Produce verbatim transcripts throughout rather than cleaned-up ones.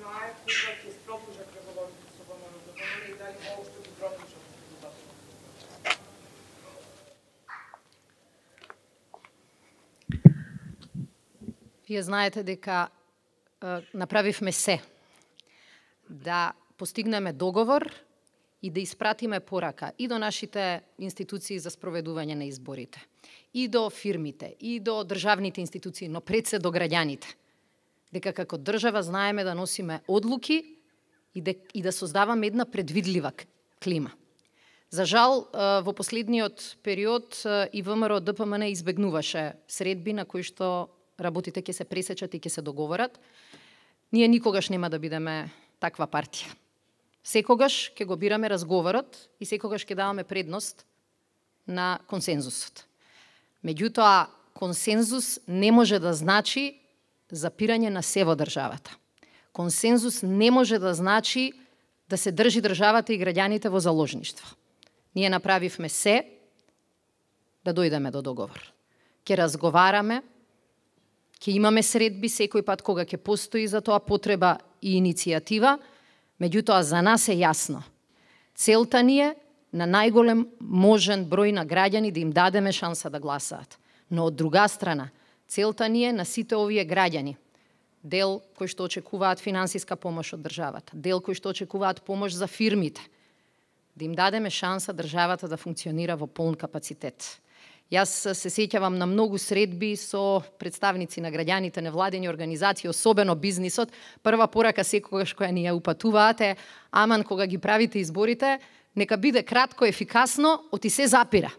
знае кога ќе продолжат преговорите со ВМРО-ДПМНЕ и дали воопшто ќе продолжат преговорите? Вие знаете дека е, направивме се да постигнеме договор и да испратиме порака и до нашите институции за спроведување на изборите, и до фирмите, и до државните институции, но пред се до граѓаните, дека како држава знаеме да носиме одлуки и да, и да создаваме една предвидлива клима. За жал, во последниот период и ВМРО-ДПМН избегнуваше средби на кои што работите ќе се пресечат и ќе се договорат. Ние никогаш нема да бидеме таква партија. Секогаш ќе го бираме разговорот и секогаш ќе даваме предност на консензусот. Меѓутоа, консензус не може да значи запирање на се во државата. Консензус не може да значи да се држи државата и граѓаните во заложништво. Ние направивме се да дојдеме до договор. Ќе разговараме, ќе имаме средби секој пат кога ќе постои за тоа потреба и иницијатива. Меѓутоа, за нас е јасно. Целта ни е на најголем можен број на граѓани да им дадеме шанса да гласаат. Но од друга страна, целта ни е на сите овие граѓани, дел кои што очекуваат финансиска помош од државата, дел кои што очекуваат помош за фирмите, да им дадеме шанса државата да функционира во полн капацитет. Јас се сеќавам на многу средби со представници на граѓаните, невладени организации, особено бизнисот. Прва порака секогаш која ни ја упатуваате, аман кога ги правите изборите, нека биде кратко, ефикасно, оти се запира.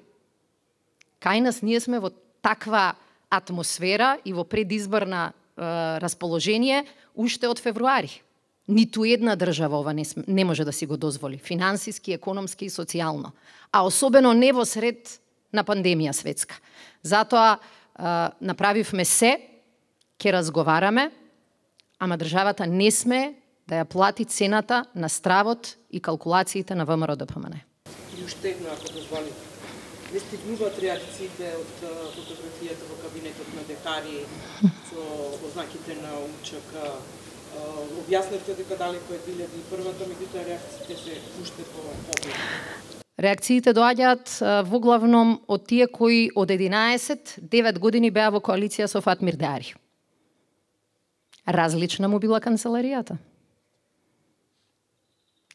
Кај нас ние сме во таква атмосфера и во предизборна е, расположение уште од февруари. Ниту една држава ова не, не може да си го дозволи, финансиски, економски и социјално. А особено не во сред на пандемија светска. Затоа е, направивме се, ќе разговараме, ама државата не сме да ја плати цената на стравот и калкулациите на ВМРО-ДПМН. И уште една, ако дозволите. Не стигнуваат реакциите од фотографијата во кабинетот на Декари со ознаките на УЧК. Објаснете дека далеко е две илјади и првата, меѓутоа реакциите се уште по-обилни. Реакциите доаѓаат во главном од тие кои од единаесет девет години беа во коалиција со Фатмир Деари. Различна му била канцеларијата.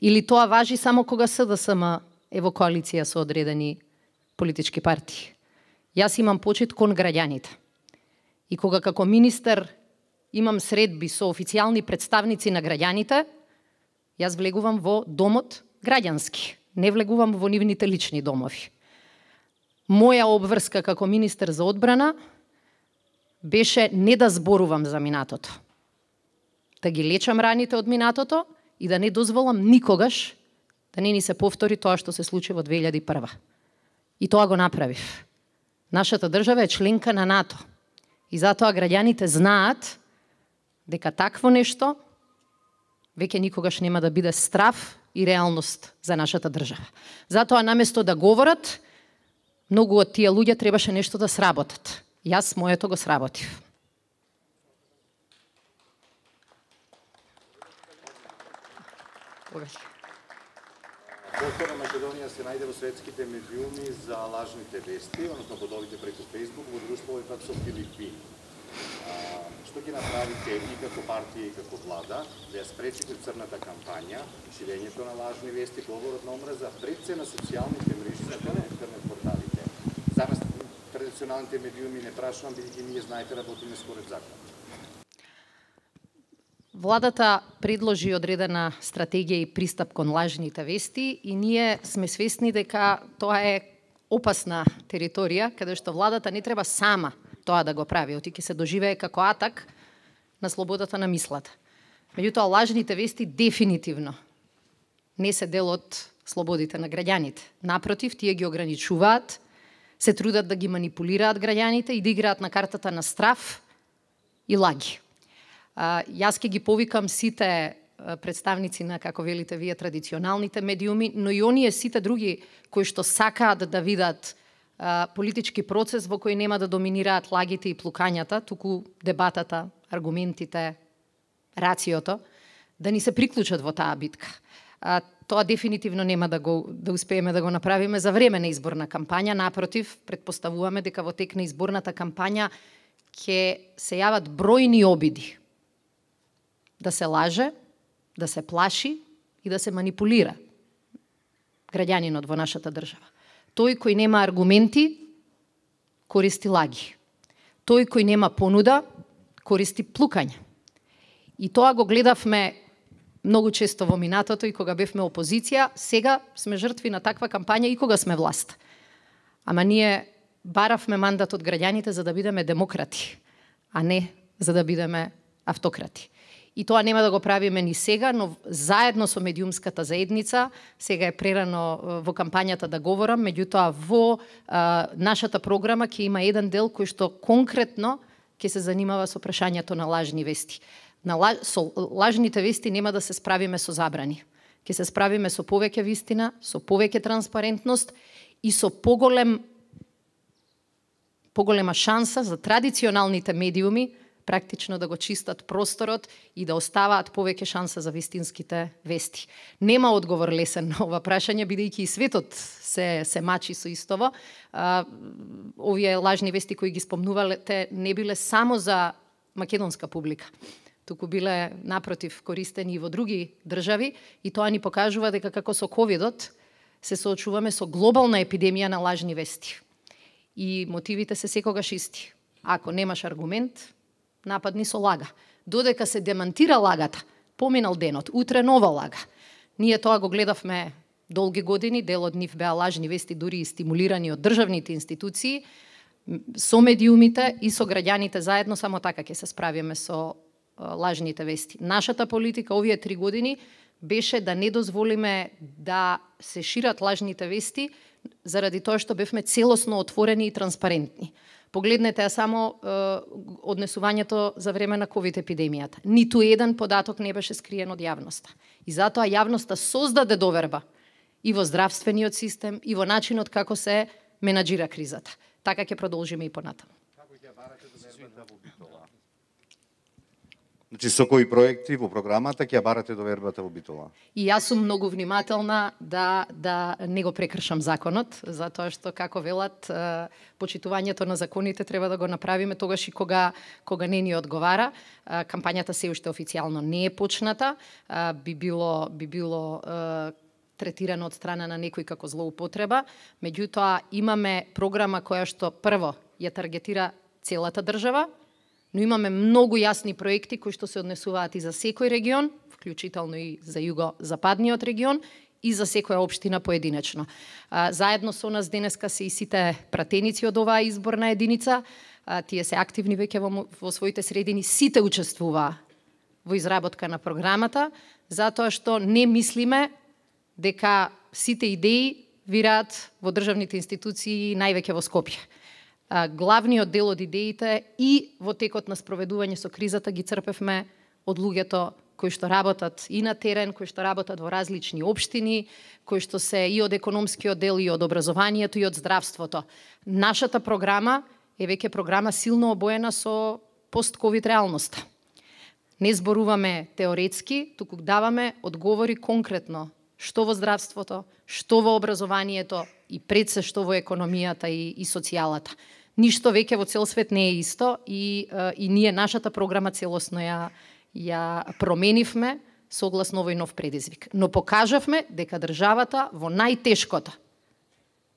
Или тоа важи само кога СДСМ е во коалиција со одредени политички партии. Јас имам почит кон граѓаните. И кога како министер имам средби со официјални представници на граѓаните, јас влегувам во домот граѓански. Не влегувам во нивните лични домови. Моја обврска како министер за одбрана беше не да зборувам за минатото. Да ги лечам раните од минатото и да не дозволам никогаш да не ни се повтори тоа што се случи во две илјади и прва. И тоа го направив. Нашата држава е членка на НАТО. И затоа граѓаните знаат дека такво нешто веќе никогаш нема да биде страв и реалност за нашата држава. Затоа наместо да говорат, многу од тие луѓе требаше нешто да сработат. Јас моето го сработив. Повторно Македонија се најде во светските медиуми за лажните вести, односно подовите преку Фејсбук во друштво пак со Филипини. А, што ќе направите и како партија и како влада да ја спречите црната кампања, ширењето на лажни вести, говорот на омраза пред се на социјалните мрежи на интернет порталите? За нас традиционалните медиуми не прашувам, бидејќи ние знаете работиме според закон. Владата предложи одредена стратегија и пристап кон лажните вести и ние сме свесни дека тоа е опасна територија, каде што владата не треба сама тоа да го прави, оти ќе се доживее како атак на слободата на мислата. Меѓутоа, лажните вести дефинитивно не се дел од слободите на граѓаните. Напротив, тие ги ограничуваат, се трудат да ги манипулираат граѓаните и да играат на картата на страв и лаги. Uh, јас ќе ги повикам сите uh, представници на, како велите вие, традиционалните медиуми, но и оние сите други кои што сакаат да видат uh, политички процес во кој нема да доминираат лагите и плукањата, туку дебатата, аргументите, рациото, да ни се приклучат во таа битка. А, тоа дефинитивно нема да го да успееме да го направиме за време на изборна кампања, напротив, предпоставуваме дека во тек на изборната кампања ќе се јават бројни обиди да се лаже, да се плаши и да се манипулира граѓанинот во нашата држава. Тој кој нема аргументи, користи лаги. Тој кој нема понуда, користи плукање. И тоа го гледавме многу често во минатото и кога бевме опозиција, сега сме жртви на таква кампања и кога сме власт. Ама ние баравме мандат од граѓаните за да бидеме демократи, а не за да бидеме автократи. И тоа нема да го правиме ни сега, но заедно со медиумската заедница, сега е прерано во кампањата да говорам, меѓутоа во а, нашата програма ќе има еден дел кој што конкретно ќе се занимава со прашањето на лажни вести. На лаж, со лажните вести нема да се справиме со забрани. Ќе се справиме со повеќе вистина, со повеќе транспарентност и со поголем поголема шанса за традиционалните медиуми практично да го чистат просторот и да оставаат повеќе шанса за вистинските вести. Нема одговор лесен на ова прашање, бидејќи и светот се, се мачи со истово. А, овие лажни вести кои ги спомнувалете не биле само за македонска публика, туку биле напротив користени и во други држави и тоа ни покажува дека како со ковидот се соочуваме со глобална епидемија на лажни вести. И мотивите се секогаш исти. Ако немаш аргумент, нападни со лага. Додека се демантира лагата, поминал денот, утре нова лага. Ние тоа го гледавме долги години, дел од нив беа лажни вести, дури и стимулирани од државните институции, со медиумите и со граѓаните заедно, само така ќе се справиме со лажните вести. Нашата политика овие три години беше да не дозволиме да се шират лажните вести, заради тоа што бевме целосно отворени и транспарентни. Погледнете ја само е, однесувањето за време на ковид епидемијата. Ниту еден податок не беше скриен од јавноста. И затоа јавноста создаде доверба и во здравствениот систем, и во начинот како се менаџира кризата. Така ќе продолжиме и понатаму. Значи, со кои проекти во програмата ќе ја барате довербата во Битола? И јас сум многу внимателна да, да не го прекршам законот, затоа што, како велат, почитувањето на законите треба да го направиме тогаш и кога, кога не ни одговара. Кампањата се уште официјално не е почната, би било, би било третирано од страна на некој како злоупотреба, меѓутоа имаме програма која што прво ја таргетира целата држава, но имаме многу јасни проекти кои што се однесуваат и за секој регион, вклучително и за југо-западниот регион, и за секоја општина поединечно. Заедно со нас денеска се и сите пратеници од оваа изборна единица, тие се активни веќе во, во своите средини, сите учествуваа во изработка на програмата, затоа што не мислиме дека сите идеи вираат во државните институции највеќе во Скопје. Главниот дел од идеите и во текот на спроведување со кризата ги црпевме од луѓето кои што работат и на терен, кои што работат во различни општини, кои што се и од економскиот дел, и од образованието, и од здравството. Нашата програма е веќе програма силно обоена со пост-ковид реалноста. Не зборуваме теоретски, туку даваме одговори конкретно што во здравството, што во образованието и пред се што во економијата и, и социјалата. Ништо веќе во цел свет не е исто и, и ние нашата програма целосно ја, ја променивме согласно овој нов предизвик. Но покажавме дека државата во најтешкото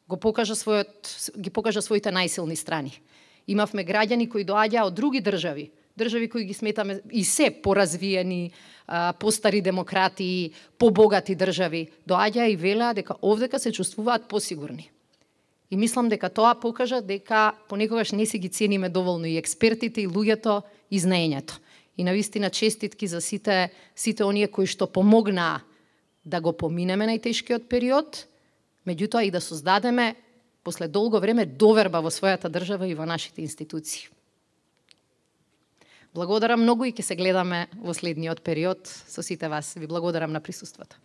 го покажа својот, ги покажа своите најсилни страни. Имавме граѓани кои доаѓаа од други држави, држави кои ги сметаме и се поразвиени, постари демократии, побогати држави, доаѓаа и велеа дека овдека се чувствуваат посигурни. И мислам дека тоа покажа дека понекогаш не си ги цениме доволно и експертите, и луѓето, и знаењето. И навистина честитки за сите, сите оние кои што помогнаа да го поминеме најтешкиот период, меѓутоа и да создадеме после долго време доверба во својата држава и во нашите институции. Благодарам многу и ќе се гледаме во следниот период со сите вас. Ви благодарам на присуството.